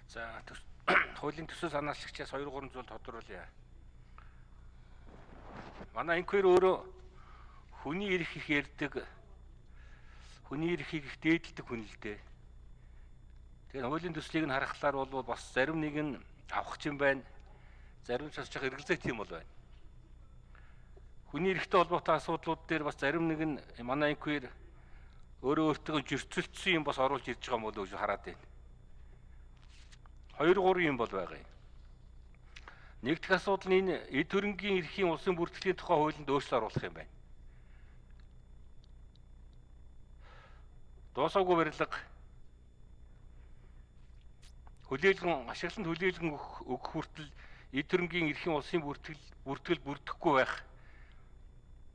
За хуулийн төсөө санаачлагчаас 2-3 зүйл тодруулъя. Манай инквер өөрөө хүний эрх их ярьдаг, хүний эрхийг их дээдэлдэг хүн л дээ. Тэгэхээр хуулийн төслийг нь харахлаар бол бас зарим нэг нь авах юм байна. Зарим ч бас жоо эргэлзээ тийм бол байна. Хүний эрхтэй холбоотой асуудлууд дээр бас зарим нэг нь манай инквер өөрөө өөртөө зөрчилдсөн юм бас оруулж ирж байгаа юм болов уу гэж хараад байна. 2-3 юм бол байгаа юм. Нэг дэх асуудал нь энэ эд хөрөнгийн эрхийн улсын бүртгэлийн тухай хуулинд өөрчлөлт оруулах юм байна. Дуусаагүй барилга хүлээлгэн ашиглалтанд хүлээлгэн өгөх хүртэл эд хөрөнгийн эрхийн улсын бүртгэл бүрдэхгүй байх.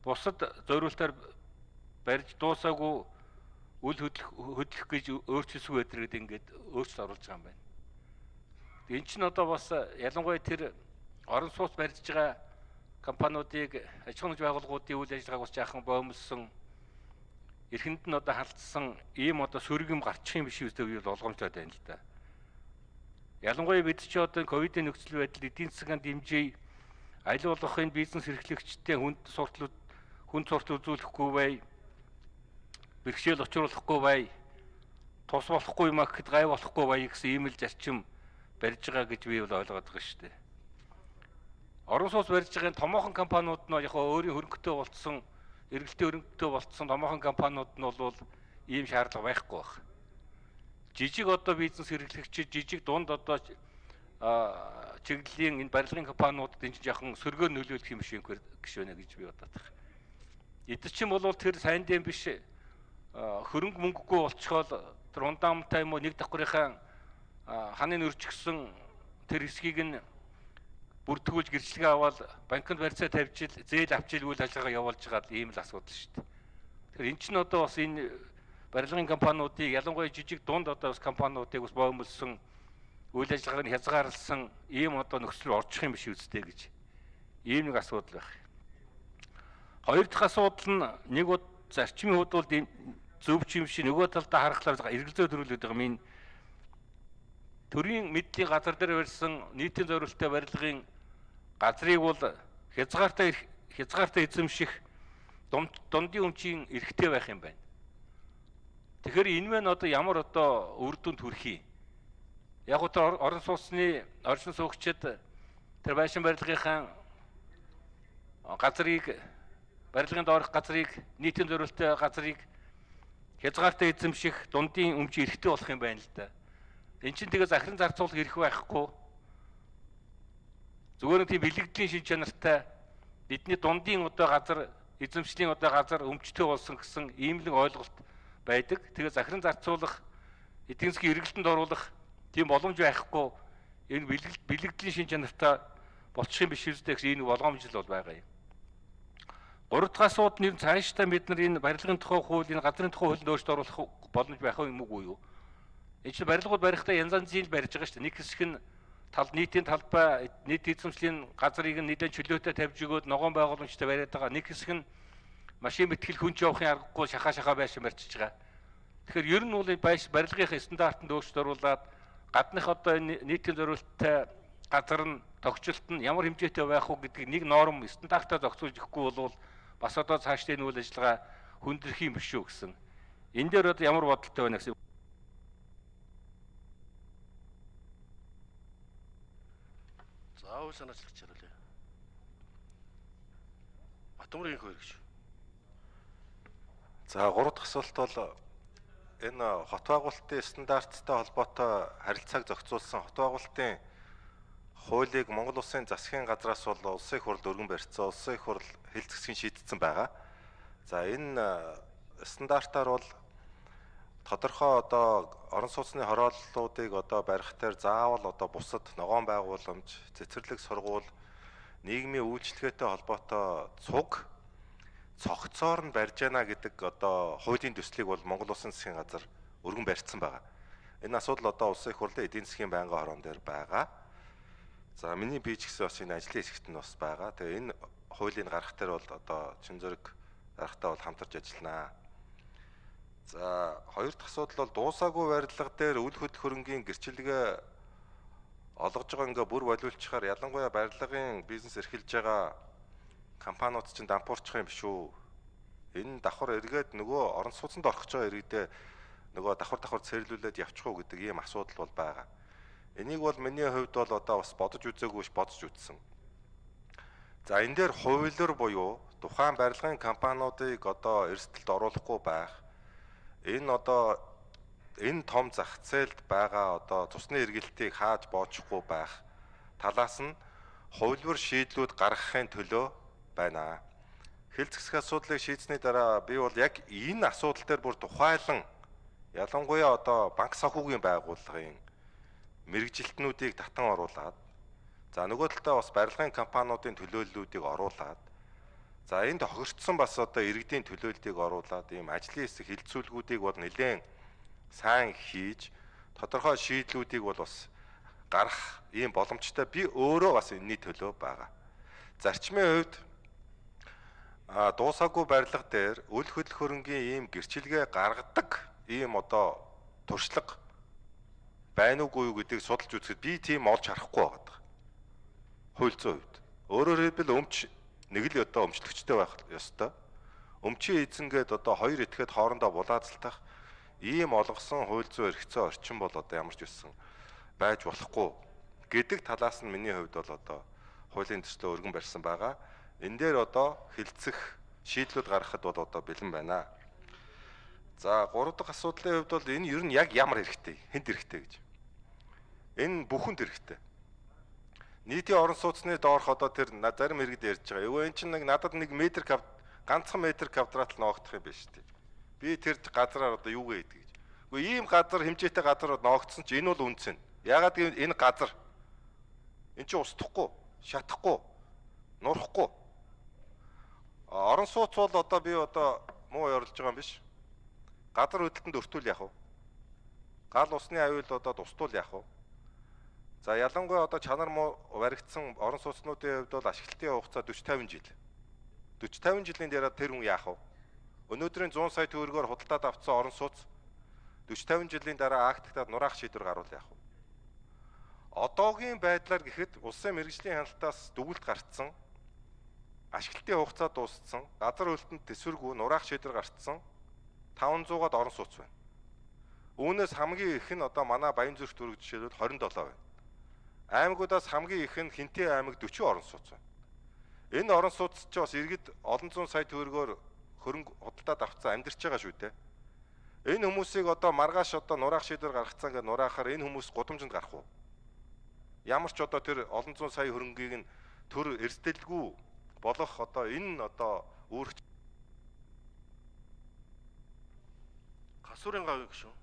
Бусад зориултаар барьж дуусаагүй үл хөдлөх гэж өөрчлөсгүй байдаг гэдэг ингээд өөрчлөлт оруулж байгаа юм байна. Энэ чинь одоо бас ялангуяа тэр орон сууц барьж байгаа компаниудыг аж ахуйн байгууллагуудын үйл ажиллагааг бас жаахан боомлсон эрхэнд нь одоо халтсан ийм одоо сөргөм гарчих юм биш үстэй үйл болгоомжтой байна л да. Ялангуяа бид ч одоо ковидын нөхцөл байдал эдийн засгийн дэмжээ аль болох энэ бизнес эрхлэгчтэй хүнд суртал үзүүлэхгүй бай, бэрхшээл учруулахгүй бай, тус болохгүй юм гэхэд гай болохгүй бай гэсэн ийм л зарчим барьж байгаа гэж би бол ойлгоод байгаа шүү дээ. Орон сууц барьж байгаа томоохон компаниуд нь яг өөрийн хөрөнгөтэй болцсон, эргэлтийн хөрөнгөтэй болцсон томоохон компаниуд нь бол ийм шаардлага байхгүй байна. Жижиг одоо бизнес эрхлэгчид жижиг дунд одоо чиглэлийн энэ барилгын компаниудад энэ жоохон сөргөөр нөлөөлөх юм шиг гişвэнэ гэж би бодоод байна. Эд чинь бол тэр сайн дэм биш хөрөнгө мөнгөгүй болчихвол тэр ундаамтай юм уу нэг давхрынхаа ханын өрчгсөн тэр хэсгийг нь бүрдгүүлж гэрчлэгээ аваад банкнд барьцаа тавьж зээл авчил үйл ажиллагаа явуулж байгаа ийм л асуудал шүү дээ. Тэгэхээр эн чинь одоо бас энэ барилгын компаниудыг ялангуяа жижиг дунд одоо бас компаниудыг бас боомлсон үйл ажиллагааг нь хязгаарласан ийм одоо нөхцөл орчих юм биш үстэй гэж ийм нэг асуудал байх. Хоёр дахь асуудал нь нэг зарчмын хувьд бол зөв ч юм шиг нөгөө талдаа харахаар эргэлзээ төрүүлээд байгаа юм. Төрийн мэдлийн газар дээр барьсан нийтийн зориулалттай барилгын газрыг бол хязгаартай эзэмших дундын өмчийн эрхтэй байх юм байна. Тэгэхээр энэ мэн одоо ямар одоо үр дүнд хүрэх юм? Яг одоо орон сууцны орчин суугчид тэр байшин барилгынхаа газрыг барилгын доорх газрыг нийтийн зориулалттай газрыг хязгаартай эзэмших дундын өмчийн эрхтэй болох юм байна л да. Энд чинь тэгээ захиран зарцуулах эрх байхгүй. Зүгээр нэг тийм бэлэгдлийн шин чанартай бидний дундын одоо газар эзэмшлийн одоо газар өмчтэй болсон гэсэн ийм л ойлголт байдаг. Тэгээ захиран зарцуулах эдийн засгийн эргэлтэнд оруулах тийм боломж байхгүй. Энэ бэлэгдлийн шин чанартай болчих юм биш үстэй гэсэн энэ болгоомж л бол байгаа юм. Гурав дахь асуудал нь цаашдаа бид нар энэ барилгын тухай хууль, энэ газрын тухай хуулинд өөрчлөлт оруулах боломж байх юм уу юу? Энэ чинь барилгууд барихдаа янз янзын барьж байгаа шүү дээ. Нэг хэсэг нь нийтийн талбай, нийт эзэмшлийн газрыг нэлээд чөлөөтэй тавьж өгөөд ногоон байгууламжтай бариад байгаа. Нэг хэсэг нь машин бэтгэл хүнч явахын аргагүй шахаа байшин барьчихж байгаа. Тэгэхээр ер нь бол барилгын стандартанд өөрчлөлт оруулаад гадных одоо энэ нийтийн зориулалттай газар нь тогтчлолт нь ямар хэмжээтэй байх уу гэдгийг нэг норм стандартаар зохицуулж өгөхгүй бол бас одоо цаашдаа энэ үйл ажиллагаа хүндрэх юм биш үү гэсэн. Энэ дээр одоо ямар бодолтой байна гэсэн. Заавал санаачлагч харуулъя. Батмөргийн хөрөг шүү. За 3 дахь асуулт бол энэ хот байгуулалтын стандарттай холбоотой харилцааг зохицуулсан хот байгуулалтын хуулийг Монгол Улсын засгийн газраас бол улсын их хурл өргөн барьцсан, улсын их хурл хил зэвсгийн шийдсэн байгаа. За энэ стандартаар бол тодорхой одоо орон сууцны хорооллуудыг одоо барих дээр заавал одоо бусад ногоон байгууламж, цэцэрлэг сургууль, нийгмийн үйлчлэгээтэй холбоотой цуг цогцоор нь барьж яана гэдэг одоо хуулийн төслийг бол Монгол Улсын засгийн газар өргөн барьцсан байгаа. Энэ асуудал одоо улсын их хурлын эдийн засгийн байнгын хорон дээр байгаа. За миний би ч гэсэн бас энэ ажлын хэсэгт нь бас байгаа. Тэгээ энэ хуулийн гаргах дээр бол одоо чин зэрэг гарахтаа бол хамтарч ажилланаа. За хоёр дахь асуудал бол дуусаагүй барилга дээр үл хөдлөх хөрөнгийн гэрчлэгээ олгож байгаа ингээ бүр болиулчихаар ялангуяа барилгын бизнес эрхэлж байгаа компаниуд чинь дампуурчих юм биш үү? Энэ давхар эргээд нөгөө орон сууцнд орох гэж байгаа иргэдээ нөгөө давхар цэрлүүлээд явчих уу гэдэг ийм асуудал бол байгаа. Энийг бол миний хувьд бол одоо бас бодож үзээгүй ш бодож үзсэн. За энэ дээр хуулиар буюу тухайн барилгын компаниудыг одоо эрсдэлд оруулахгүй байх. Энэ том зах зээлд байгаа одоо цусны эргэлтийг хааж боочихгүй байх талаас нь хуулиар шийдлүүд гаргахын төлөө байна. Хэлц хэсэг асуудлыг шийдсэний дараа би бол яг энэ асуудал дээр бүр тухайлан ялангуяа одоо банк санхүүгийн байгууллагын мэрэгжилтнүүдийг татан оруулаад за нөгөө талдаа бас барилгын компаниудын төлөөллүүдийг оруулаад за энд тохирцсон бас одоо иргэдийн төлөөллийг оруулаад ийм ажлын хэсэг хилцүүлгүүдийг бол нэлээд сайн хийж тодорхой шийдлүүдийг бол бас гарах ийм боломжтой би өөрөө бас энэний төлөө байгаа. Зарчмын хувьд дуусаагүй барилга дээр үл хөдлөх хөрөнгийн ийм гэрчилгээ гаргадаг ийм одоо туршлага байна уугүй юу гэдгийг судалж үзэхэд би тийм олж харахгүй байгаа. Хууль зүйн хувьд. Өөрөөр хэлбэл өмч нэг л одоо өмчлөгчтэй байх ёстой. Өмчийн эзэнгээд одоо хоёр этгээд хоорондоо булаацалтах ийм олгосон хууль зүйн эрхцээ орчин бол одоо ямар ч үсэн байж болохгүй гэдэг талаас нь миний хувьд бол одоо хуулийн төслөө өргөн барьсан байгаа. Энэ дээр одоо хилцэх шийдлүүд гаргахад бол одоо бэлэн байна. За 3 дахь асуудлын хувьд бол энэ ер нь яг ямар хэрэгтэй, хэнд хэрэгтэй гэж. Энэ бүхэнд хэрэгтэй. Нийтийн орон сууцны доорх одоо тэр зарим иргэд ярьж байгаа. Өвөө эн чинь надад 1 метр ганцхан метр квадрат л ноогдох юм байна шүү дээ. Би тэр газраар одоо юу гээдэг гэж. Үгүй ийм газар хэмжээтэй газар ноогдсон чи энэ бол үнцэн. Ягаад гэвэл энэ газар эн чинь устдахгүй, шатахгүй, нурахгүй. Орон сууц бол одоо би одоо муу ярилж байгаа юм биш. Газар хөдлөлтөнд өртүүл яах вэ? Гал усны аюул одоо устуул яах вэ? За ялангуяа одоо чанар муу баригдсан орон сууцнуудын хувьд бол ашиглалтын хугацаа 40-50 жил. 40-50 жилийн дараа тэр хүн яах вэ? Өнөөдрийн 100 сая төгрөгөөр худалдаад авсан орон сууц 40-50 жилийн дараа актад нураах шийдвэр гарвал яах вэ? Одоогийн байдлаар гэхэд улсын мэргэжлийн хяналтаас дүгнэлт гарцсан, ашиглалтын хугацаа дууссан, газар хөдлөлтөнд төсвөргүй нураах шийдвэр гарцсан 500-аад орон сууц байна. Үүнээс хамгийн их нь одоо манай Баянзүрх дүүрэг жишээлбэл 27 байна. Аймагуудаас хамгийн их нь Хинтээ аймаг 40 орон сууц байна. Энэ орон сууц ч бас иргэд олон зуун сая төгрөгөөр хөрөнгө худалдаад авцсан амьдарч байгаа шүү дээ. Энэ хүмүүсийг одоо маргааш одоо нураах шийдвэр гаргацсан гэж нураахаар энэ хүмүүс гудамжинд гарах уу? Ямар ч одоо тэр олон зуун сая хөрөнгийг нь төр эрсдэлгүй болох одоо энэ одоо үүрэг Гасуурын гавь гэж шүү.